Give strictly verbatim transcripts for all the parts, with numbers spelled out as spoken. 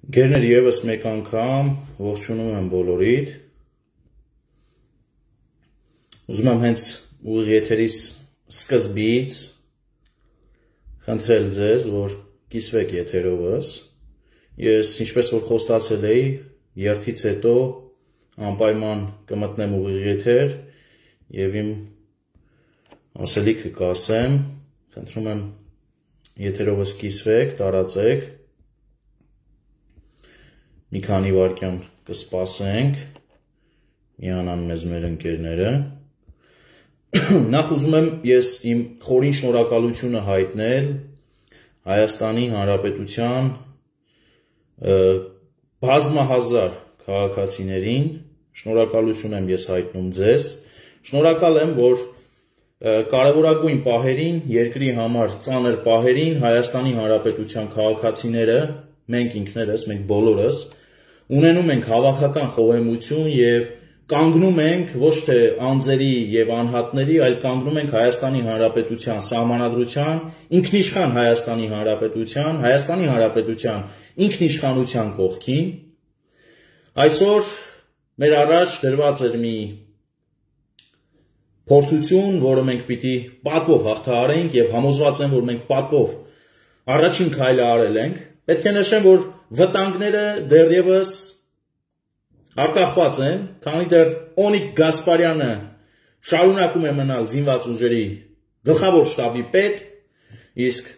Գերներ եւս մեկ անգամ ողջունում եմ բոլորիդ։ Ուզում եմ հենց ուղիղ եթերիս սկզբից խնդրել ձեզ, որ կիսվեք եթերովս։ Ես ինչպես որ խոստացել էի, երթից հետո անպայման կմտնեմ ուղիղ եթեր եւ իմ ասելիքը կասեմ։ Խնդրում եմ եթերովս կիսվեք, տարածեք։ Մի քանի վայրկյան կսպասենք, միանան մեզ մեր ընկերները։ Նախ ուզում եմ ես իմ խորին շնորհակալությունը հայտնել Հայաստանի Հանրապետության բազմահազար քաղաքացիներին, շնորհակալություն եմ ես հայտնում ձեզ, շնորհակալ եմ, որ կարևորագույն պահերին, երկրի համար ծանր պահերին Հայաստանի Հանրապետության քաղաքացիները, մենք ինքներս, մենք բոլորս ունենում ենք հավաքական խոհեմություն եւ կանգնում ենք ոչ թե անձերի եւ անհատների, այլ կանգնում ենք Հայաստանի Հանրապետության սահմանադրության, ինքնիշխան Հայաստանի Հանրապետության, Հայաստանի Հանրապետության ինքնիշխանության կողքին։ Այսօր մեր առաջ դրված էր մի փորձություն, որը մենք պիտի պատվով հաղթահարենք եւ համոզված եմ, որ մենք պատվով առաջին քայլը արել ենք։ Պետք է նշեմ, որ վտանգները դեռևս արկախված են, քանի դեռ Օնիկ Գասպարյանը շարունակում է մնալ զինված ուժերի գլխավոր շտաբի պետ, իսկ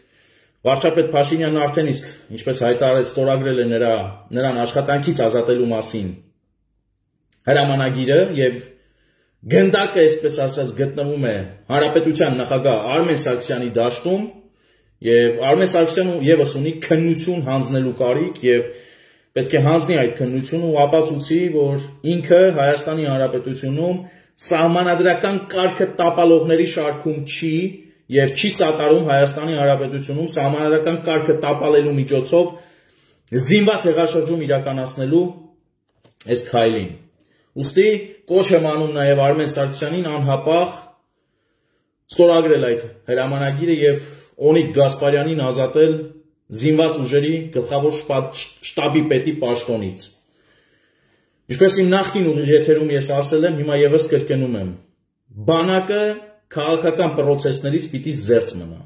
վարչապետ Փաշինյանն արդեն իսկ, ինչպես հայտարարեց, ստորագրել է նրա նրան աշխատանքից ազատելու մասին հրամանագիրը եւ գնդակը, այսպես ասած, գտնվում է Հանրապետության նախագահ Արմեն Սարգսյանի դաշտում եւ Արմեն Սարգսյանը եւս ունի քննություն հանձնելու կարիք եւ պետք է հանձնի այդ քննությունը ու ապացուցի, որ ինքը Հայաստանի Հանրապետությունում սահմանադրական կարգը տապալողների շարքում չի եւ չի սատարում Հայաստանի Հանրապետությունում սահմանադրական կարգը տապալելու միջոցով զինված հեղաշրջում իրականացնելու այս քայլին։ Ուստի կոչ եմ անում նաեւ Արմեն Սարգսյանին անհապաղ ստորագրել այդ հրամանագիրը եւ Օնիկ Գասպարյանին ազատել զինված ուժերի գլխավոր շտաբի պետի պաշտոնից։ Ինչպես իմ նախկին ուղիղ եթերում ես ասել եմ, հիմա եւս կրկնում եմ. բանակը քաղաքական պրոցեսներից պիտի զերծ մնա։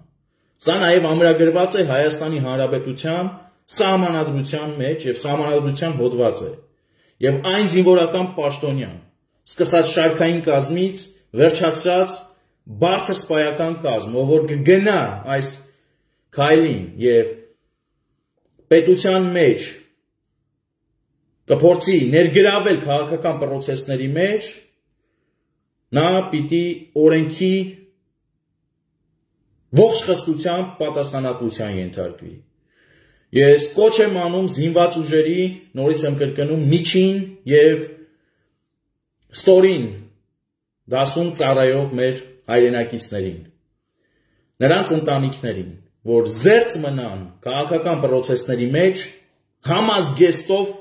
Սա նաեւ ամրագրված է Հայաստանի Հանրապետության սահմանադրության մեջ եւ սահմանադրության հոդված է։ Եվ այն զինվորական պաշտոնյան, սկսած շարքային կազմից, վերջացրած բարձր սպայական կազմ, ով որ կգնա այս քայլին եւ պետության մեջ կփորձի ներգրավել քաղաքական պրոցեսների մեջ, նա պիտի օրենքի ողջ խստությամբ պատասխանատվության ենթարկվի։ Ես կոչ եմ անում զինված ուժերի, նորից եմ կրկնում, միջին եւ ստորին դասում ծառայող մեր հայրենակիցներին, նրանց ընտանիքներին, որ զերծ մնան քաղաքական պրոցեսների մեջ համազգեստով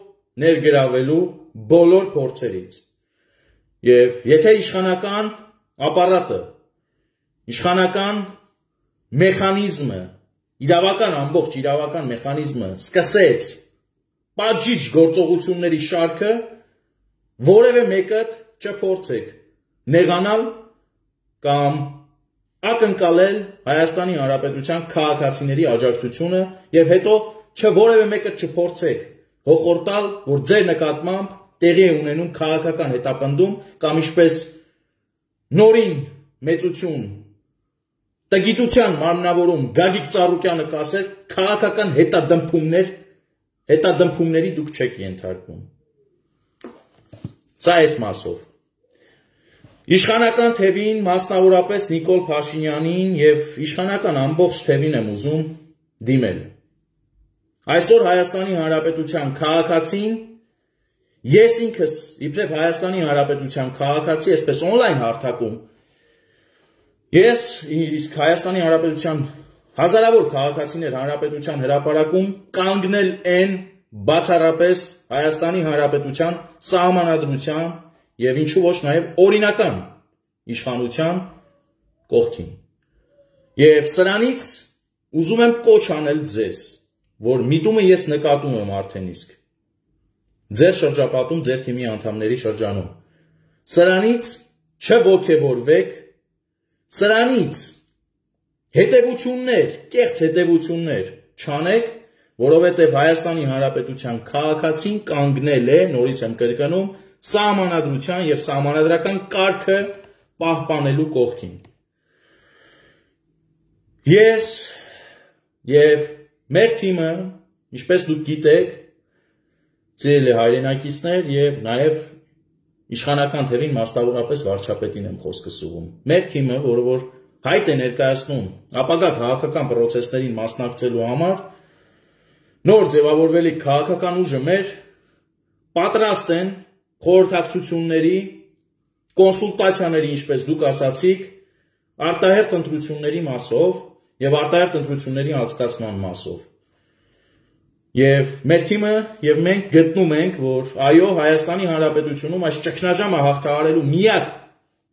ներգրավելու բոլոր փորձերից։ Եվ եթե իշխանական ապարատը, իշխանական մեխանիզմը, իրավական ամբողջ իրավական մեխանիզմը սկսեց պատժիչ գործողությունների շարքը, որևէ մեկը չփորձեք նեղանալ կամ ակնկալել Հայաստանի Հանրապետության քաղաքացիների աջակցությունը եւ հետո չէ որևէ մեկը չփորձեք հոխորտալ, որ ձեր նկատմամբ տեղի է ունենում քաղաքական հետապնդում կամ ինչպես նորին մեծություն տգիտության մարմնավորում Գագիկ Ծառուկյանը կասեր, քաղաքական հետադմփումներ, հետադմփումների դուք չեք ենթարկվում։ Սա այս մասով։ Իշխանական թևին, մասնավորապես Նիկոլ Փաշինյանին եւ իշխանական ամբողջ թևին եմ ուզում դիմել։ Այսօր Հայաստանի Հանրապետության քաղաքացին, ես ինքս իբրև Հայաստանի Հանրապետության քաղաքացի, այսպես on-line հարթակում, ես իսկ Հայաստանի Հանրապետության հազարավոր քաղաքացիներ Հանրապետության հրապարակում կանգնել են բացառապես Հայաստանի Հանրապետության սահմանադրության եւ ինչու ոչ նաեւ օրինական իշխանության կողքին։ Եվ սրանից ուզում եմ կոչ անել ձեզ, որ միտումը ես նկատում եմ արդեն իսկ ձեր շրջապատում, ձեր թիմի անդամների շրջանում։ Սրանից չոգևորվեք, սրանից հետևություններ, կեղծ հետևություններ չանեք, որովհետև Հայաստանի Հանրապետության քաղաքացին կանգնել է, նորից եմ կրկնում, սահմանադրության եւ սահմանադրական կարգը պահպանելու կողքին։ Ես եւ մեր թիմը, ինչպես դուք գիտեք, սիրելի հայրենակիցներ եւ նաեւ իշխանական թևին մասնավորապես վարչապետին եմ խոսքս ուղղում։ Մեր թիմը, որը որ հայտ է ներկայացնում ապագա քաղաքական process-ներին մասնակցելու համար, նոր ձևավորվելիք քաղաքական ուժը մեր պատրաստ են խորհրդակցությունների, կոնսուլտացիաների, ինչպես դուք ասացիք, արտահերթ ընտրությունների մասով եւ արտահերթ ընտրությունների անցկացման մասով։ Եվ մեր թիմը եւ մենք գտնում ենք, որ այո, Հայաստանի Հանրապետությունում այս ճգնաժամը հաղթահարելու միակ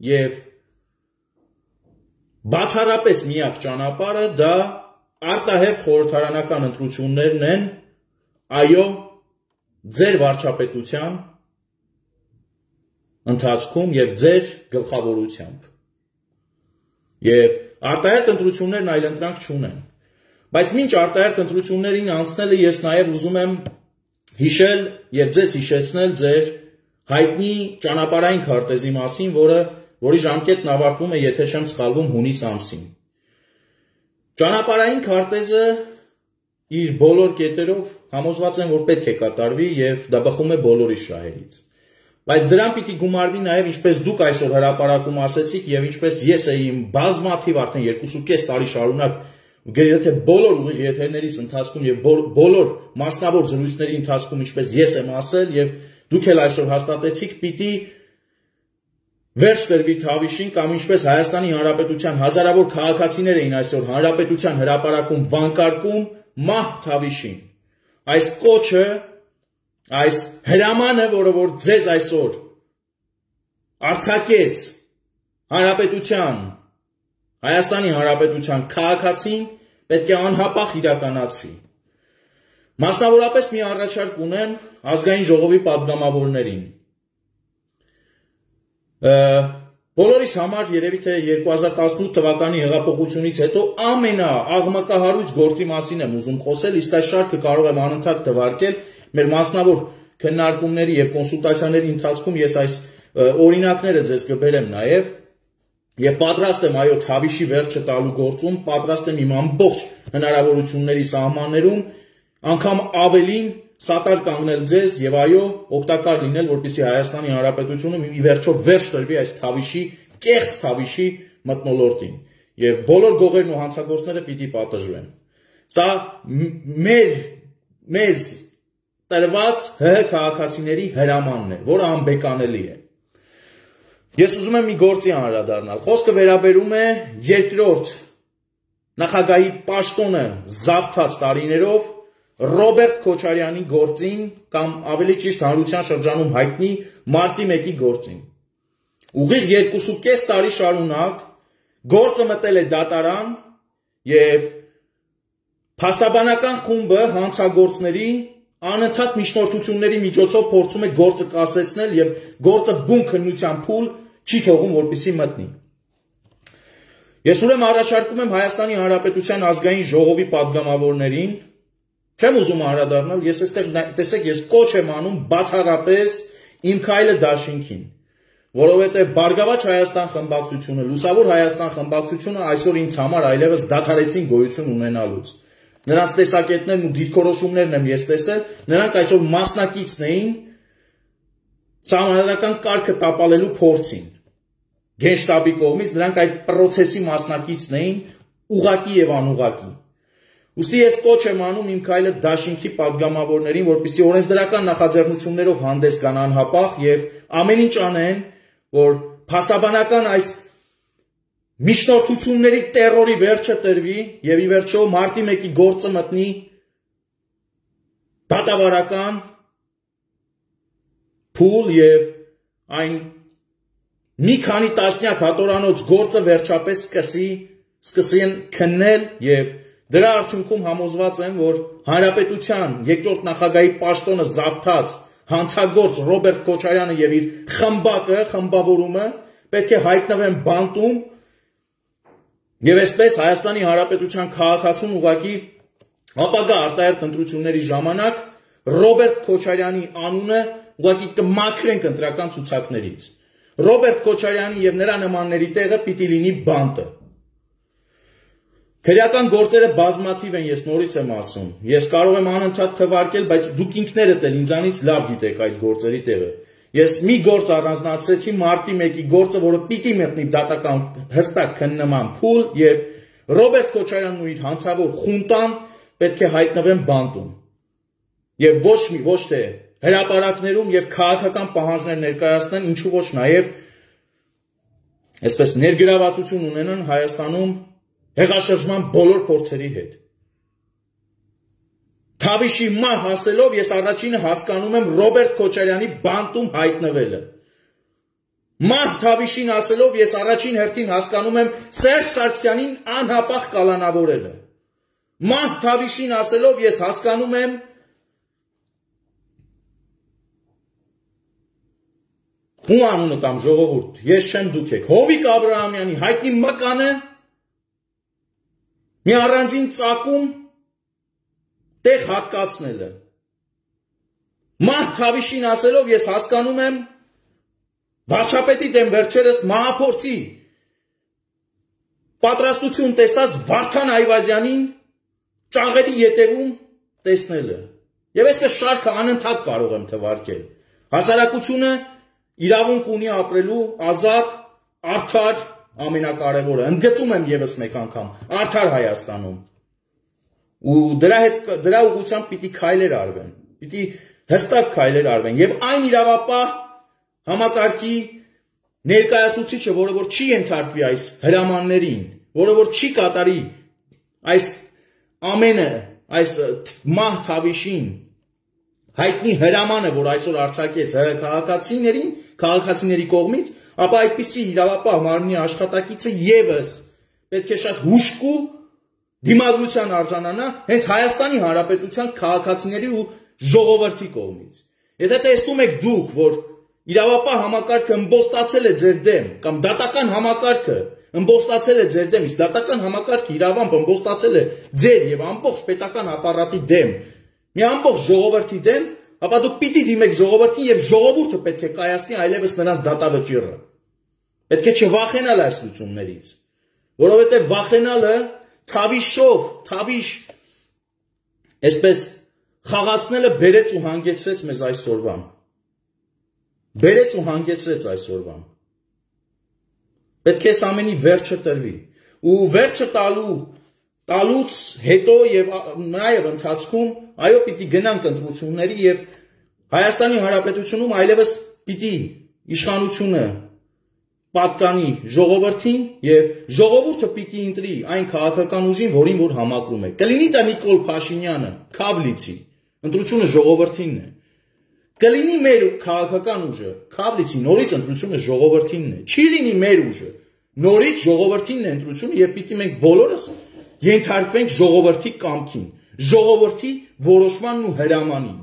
եւ բացառապես միակ ճանապարհը դա արտահերթ խորհրդարանական ընտրություններն են, այո, ձեր վարչապետության ընթացքում եւ ձեր գլխավորությամբ։ Եվ արտահերթ ընտրություններն այլ ընտրանք չունեն։ Բայց մինչ արտահերթ ընտրություններին անցնելը ես նաեւ ուզում եմ հիշել եւ ձեզ հիշեցնել ձեր հայտնի ճանապարհային քարտեզի մասին, որը որի ժամկետն ավարտվում է, եթե չեմ սխալվում, հունիս ամսին։ Ճանապարհային քարտեզը իր բոլոր կետերով համոզված եմ, որ պետք է կատարվի եւ դա բխում է բոլորի շահերից։ Բայց դրան պիտի գումարվի նաեւ, ինչպես դուք այսօր հրապարակում ասեցիք եւ ինչպես ես էի իմ բազմաթիվ արդեն երկուսուկես տարի շարունակ գրեթե բոլոր ուղիղ եթերներիս ընթացքում եւ բոլոր մասնավոր զրույցների ընթացքում, ինչպես ես եմ ասել եւ դուք էլ այսօր հաստատեցիք, պիտի վերջ տրվի Թավիշին կամ ինչպես Հայաստանի Հանրապետության հազարավոր քաղաքացիներ էին այսօր Հանրապետության հրապարակում վանկարկում մահ Թավիշին։ Այս կոչը, այս հրամանը, որը որ ձեզ այսօր արձակեց Հանրապետության, Հայաստանի Հանրապետության քաղաքացին, պետք է անհապաղ իրականացվի։ Մասնավորապես մի առաջարկ ունեմ ազգային ժողովի պատգամավորներին։ Բոլորիս համար երևի թե երկու հազար տասնութ թվականի հեղափոխությունից հետո ամենաաղմկահարույց գործի մասին եմ ուզում խոսել, իսկ այս շարքը կարող եմ անընդհատ թվարկել մեր մասնավոր քննարկումների եւ կոնսուլտացիաների ընթացքում ես այս օրինակները ձեզ կբերեմ նաեւ եւ պատրաստ եմ այո Թավիշի վերջը տալու գործում, պատրաստ եմ իմ ամբողջ հնարավորությունների սահմաններում անգամ ավելին սատար կանգնել ձեզ եւ այո օգտակար լինել, որպեսզի Հայաստանի Հանրապետությունը մի վերջով վերջ տրվի այս Թավիշի, կեղծ Թավիշի մթնոլորտին եւ բոլոր գողերն ու հանցագործները պիտի պատժվեն։ Սա մեր մեզ տրված ՀՀ քաղաքացիների հրամանն է, որը անբեկանելի է։ Ես ուզում եմ մի գործի անդրադառնալ։ Խոսքը վերաբերում է երկրորդ նախագահի պաշտոնը զավթած տարիներով Ռոբերտ Քոչարյանի գործին կամ ավելի ճիշտ հանրության շրջանում հայտնի մարտի մեկի գործին։ Ուղիղ երկուսուկես տարի շարունակ գործը մտել է դատարան եւ փաստաբանական խումբը հանցագործների անընդհատ միջնորդությունների միջոցով փորձում է գործը կասեցնել եւ գործը բուն քննության փուլ չի թողում, որպեսզի մտնի։ Ես ուրեմն առաջարկում եմ Հայաստանի Հանրապետության ազգային ժողովի պատգամավորներին, չեմ ուզում անդրադառնալ, ես այստեղ տեսեք, ես կոչ եմ անում բացառապես իմ քայլը դաշինքին, որովհետեւ Բարգավաճ Հայաստան խմբակցությունը, Լուսավոր Հայաստան խմբակցությունը այսօր ինձ համար այլևս դադարեցին գոյություն ունենալուց։ Նրանց տեսակետներն ու դիրքորոշումներն եմ ես տեսել, նրանք այսօր մասնակիցն էին սահմանադրական կարգը տապալելու փորձին։ Գենշտաբի կողմից նրանք այդ process-ի մասնակիցն էին ուղղակի եւ անուղղակի։ Ուստի ես կոչ եմ անում իմ քայլը դաշինքի պատգամավորներին, որպեսզի օրենսդրական նախաձեռնություններով հանդես գան անհապաղ եւ ամեն ինչ անեն, որ փաստաբանական այս միջնորդությունների տերորի վերջը տրվի եւ ի վերջո մարտի մեկի գործը մտնի դատավարական փուլ եւ այն մի քանի տասնյակ հատորանոց գործը վերջապես սկսի սկսեն քննել եւ Դրա արդյունքում համոզված եմ, որ Հանրապետության երկրորդ նախագահի պաշտոնը զավթած հանցագործ Ռոբերտ Քոչարյանը եւ իր խմբակը, խմբավորումը պետք է հայտնվեն բանտում եւ այսպես Հայաստանի Հանրապետության քաղաքացուն ուղղակի ապագա արտահերթ ընտրությունների ժամանակ Ռոբերտ Քոչարյանի անունը ուղղակի կմաքրենք ընտրական ցուցակներից։ Ռոբերտ Քոչարյանի եւ նրա նմանների տեղը պիտի լինի բանտը։ Քրեական գործերը բազմաթիվ են, ես նորից եմ ասում։ Ես կարող եմ անընդհատ թվարկել, բայց դուք ինքներդ էլ ինձանից լավ գիտեք այդ գործերի տեղը։ Ես մի գործ առանձնացրեցի մարտի մեկի գործը, որը պիտի մտնի դատական հստակ քննման փուլ եւ Ռոբերտ Քոչարյանն ու իր հանցավոր խունտան պետք է հայտնվեն բանտում։ Եվ ոչ մի ոչ թե հրապարակներում եւ քաղաքական պահանջներ ներկայացնեն, ինչու ոչ նաեւ այսպես ներգրավվածություն ունենան Հայաստանում հեղաշրջման բոլոր փորձերի հետ։ Թավիշի մահ հասելով ես առաջինը հասկանում եմ Ռոբերտ Քոչարյանի բանտում հայտնվելը։ Մահ Թավիշին ասելով ես առաջին հերթին հասկանում եմ Սերժ Սարգսյանին անհապաղ կալանավորելը։ Մահ Թավիշին ասելով ես հասկանում եմ ու անունը տամ ժողովուրդ, ես չեմ դուք եք, Հովիկ Աբրահամյանի հայտնի մկանը մի առանձին ծակում տեղ հատկացնելը։ Մահ Թավիշին ասելով ես հասկանում եմ վարչապետի դեմ վերջերս մահափորձի պատրաստություն տեսած Վարդան Այվազյանին ճաղերի ետևում տեսնելը։ Եվ այսպես շարքը անընդհատ կարող եմ թվարկել։ Հասարակությունը իրավունք ունի ապրելու ազատ, արդար, ամենակարևորը, ընդգծում եմ եւս մեկ անգամ, արդար Հայաստանում։ Ու դրա հետ դրա ուղղությամբ պիտի քայլեր արվեն, պիտի հստակ քայլեր արվեն եւ այն իրավապահ համակարգի ներկայացուցիչը, որը որ չի ենթարկվի այս հրամաններին, որը որ չի կատարի այս ամենը, այս մահ Թավիշին հայտնի հրամանը, որ այսօր արձակեց քաղաքացիներին, քաղաքացիների կողմից, ապա այդպիսի իրավապահ մարմնի աշխատակիցը եւս պետք է շատ հուշկու դիմադրության արժանանա հենց Հայաստանի Հանրապետության քաղաքացիների ու ժողովրդի կողմից։ Եթե տեսնում եք դուք, որ իրավապահ համակարգը ըմբոստացել է ձեր դեմ, կամ դատական համակարգը ըմբոստացել է ձեր դեմ, իսկ դատական համակարգը իրավամբ ըմբոստացել է ձեր եւ ամբողջ պետական ապարատի դեմ, մի ամբողջ ժողովրդի դեմ, ապա դուք պիտի դիմեք ժողովրդին եւ ժողովուրդը պետք է կայացնի այլևս նրանց դատավճիռը։ Պետք է չվախենալ այս լուծումներից, որովհետեւ վախենալը Թավիշով, Թավիշ այսպես խաղացնելը բերեց ու հանգեցրեց մեզ այսօրվան։ Բերեց ու հանգեցրեց այսօրվան։ Պետք է այս ամենի վերջը տրվի։ Ու վերջը տալու տալուց հետո եւ նաեւ ընթացքում այո պիտի գնանք ընտրությունների եւ Հայաստանի Հանրապետությունում այլևս պիտի իշխանությունը պատկանի ժողովրդին եւ ժողովուրդը պիտի ընտրի այն քաղաքական ուժին, որին որ համակրում է։ Կլինի դա Նիկոլ Փաշինյանը, Քավլիցի, ընտրությունը ժողովրդինն է։ Կլինի մեր քաղաքական ուժը, Քավլիցի, նորից ընտրությունը ժողովրդինն է։ Չի լինի մեր ուժը, նորից ժողովրդինն է ընտրությունը եւ պիտի մենք բոլորս ենթարկվենք ժողովրդի կամքին, ժողովրդի որոշմանն ու հրամանին։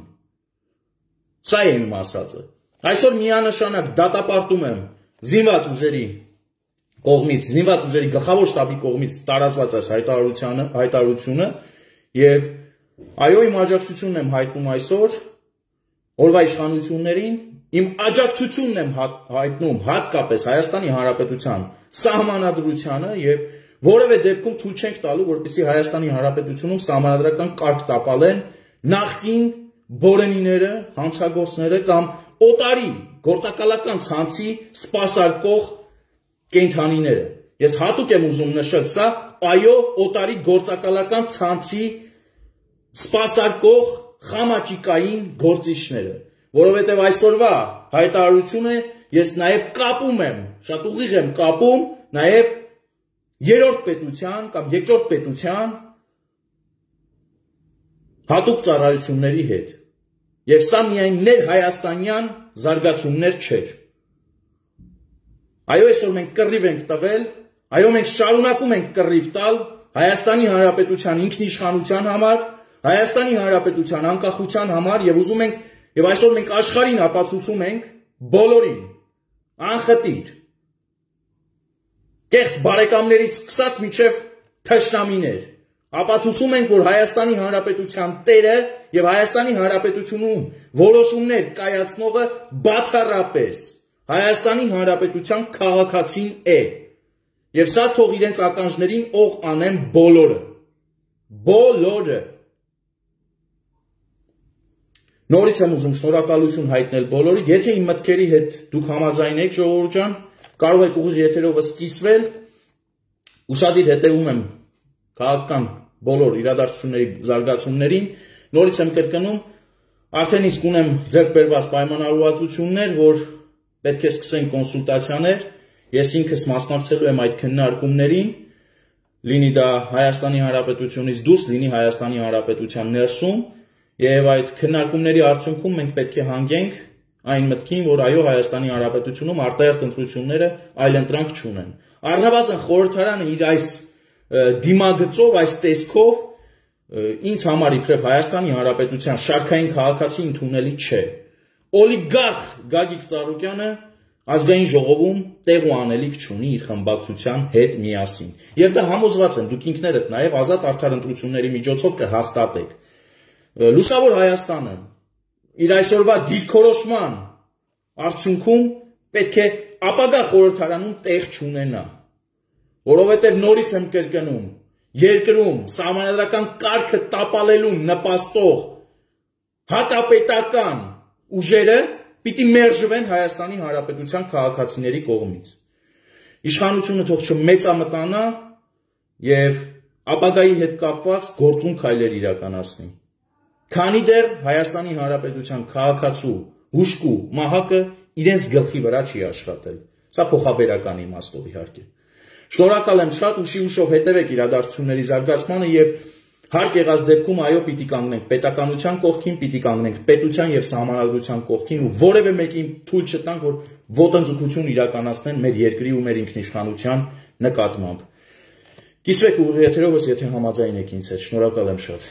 Սա է իմ ասածը։ Այսօր միանշանակ դատապարտում եմ զինված ուժերի կողմից, զինված ուժերի գլխավոր շտաբի կողմից տարածված այս հայտարարությունը, հայտարարությունը եւ այո իմ աջակցությունն եմ հայտնում այսօր օրվա իշխանություններին, իմ աջակցությունն եմ հայտնում հատկապես Հայաստանի Հանրապետության սահմանադրությանը եւ որևէ դեպքում թույլ չենք տալու, որպեսզի Հայաստանի Հանրապետությունում սահմանադրական կարգ տապալեն նախկին բորենիները, հանցագործները կամ օտարի գործակալական ցանցի սպասարկող կենթանիները։ Ես հատուկ եմ ուզում նշել սա, այո, օտարի գործակալական ցանցի սպասարկող խամաճիկային գործիչները, որովհետև այսօրվա հայտարարությունը ես նաև կապում եմ, շատ ուղիղ եմ կապում նաև երրորդ պետության կամ երկրորդ պետության հատուկ ծառայությունների հետ։ Եվ սա միայն ներհայաստանյան զարգացումներ չէր։ Այո, այսօր մենք կռիվ ենք տվել, այո, մենք շարունակում ենք կռիվ տալ Հայաստանի Հանրապետության ինքնիշխանության համար, Հայաստանի Հանրապետության անկախության համար եւ ուզում ենք եւ այսօր մենք աշխարհին ապացուցում ենք բոլորին անխտիր կեղծ բարեկամներից սկսած մինչև թշնամիներ ապացուցում ենք, որ Հայաստանի Հանրապետության տերը եւ Հայաստանի Հանրապետությունում որոշումներ կայացնողը բացառապես Հայաստանի Հանրապետության քաղաքացին է։ Եվ սա թող իրենց ականջներին օղ անեն բոլորը։ Բոլորը։ Նորից եմ ուզում շնորհակալություն հայտնել բոլորին, եթե իմ մտքերի հետ դուք համաձայն եք, ժողովուրդ ջան, կարող եք ուղիղ եթերով սկսվել, ուշադիր հետևում եմ քաղաքական բոլոր իրադարձությունների զարգացումներին, նորից եմ կրկնում, արդեն իսկ ունեմ ձեռք բերված պայմանավորվածություններ, որ պետք է սկսեն կոնսուլտացիաներ, ես ինքս մասնակցելու եմ այդ քննարկումներին, լինի դա Հայաստանի Հանրապետությունից դուրս, լինի Հայաստանի Հանրապետության ներսում, եւ այդ քննարկումների արդյունքում մենք պետք է հանգենք այն մտքին, որ այո Հայաստանի Հանրապետությունում արտահերթ ընտրությունները այլ ընտրանք չունեն։ Առնվազն խորհրդարանը իր այս դիմագծով, այս տեսքով ինձ համար իբրև Հայաստանի Հանրապետության շարքային քաղաքացի ընդունելի չէ։ Օլիգարխ Գագիկ Ծառուկյանը ազգային ժողովում տեղ ու անելիք չունի իր խմբակցության հետ միասին։ Եվ դա համոզված եմ, դուք ինքներդ նաև ազատ արդար ընտրությունների միջոցով կհաստատեք։ Լուսավոր Հայաստանը իր այսօրվա դիրքորոշման արդյունքում պետք է ապագա խորհրդարանում տեղ չունենա, որովհետև նորից եմ կրկնում, երկրում սահմանադրական կարգը տապալելուն նպաստող հակապետական ուժերը պիտի մերժվեն Հայաստանի Հանրապետության քաղաքացիների կողմից։ Իշխանությունը թող չմեծամտանա եւ ապագայի հետ կապված գործուն քայլեր իրականացնի։ Քանի դեռ Հայաստանի Հանրապետության քաղաքացու հուշկու մահակը իրենց գլխի վրա չի աշխատել։ Սա փոխաբերական իմաստով իհարկե։ Շնորհակալ եմ շատ, ուշի ուշով հետևեք իրադարձությունների զարգացմանը եւ հարկ եղած դեպքում այո պիտի կանգնենք պետականության կողքին, պիտի կանգնենք պետության եւ սահմանադրության կողքին ու որևէ մեկին թույլ չտանք, որ ոտնձգություն իրականացնեն մեր երկրի ու մեր ինքնիշխանության նկատմամբ։ Կիսվեք ուղիղ եթերովս, եթե համաձայն եք ինձ հետ։ Շնորհակալ եմ շատ։